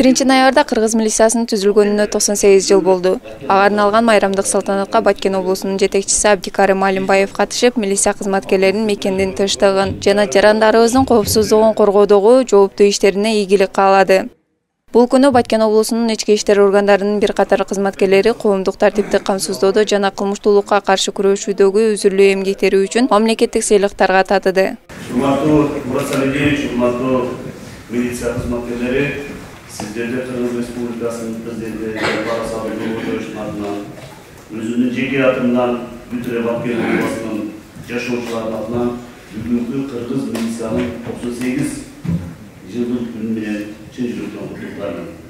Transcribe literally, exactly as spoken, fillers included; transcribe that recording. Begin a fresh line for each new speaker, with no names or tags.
биринчи ноябрда Кыргыз милициясынын түзүлгөнүнө токсон сегиз жыл болду. Ага арналган майрамдык салтанатка Баткен облусунун жетекчиси Абдикарим Алимбаев катышып, милиция кызматкерлеринин мекендин тынчтыгын жана жарандарыбыздын коопсуздугун коргоодогу жооптуу иштерине ийгилик каалады. Бул күнү Баткен облусунун ички иштер органдарынын бир катар кызматкерлери коомдук тартипти камсыздоодо жана кылмыштуулукка каршы күрөшүүдөгү үзүрлүү эмгектери үчүн мамлекеттик сыйлыктарга татыды.
Урматтуу Мурат Салиевич, урматтуу милиция кызматкерлери, сиздерди Кыргыз Республикасынын президенти Жапар Абдулловичтин атынан, өзүмдүн жеке атымдан бүт Баткен облусунун жашоочуларынын атынан бүгүнкү Кыргыз милициянын токсон сегиз жылдык күнү менен чын жүрөктөн куттуктайм.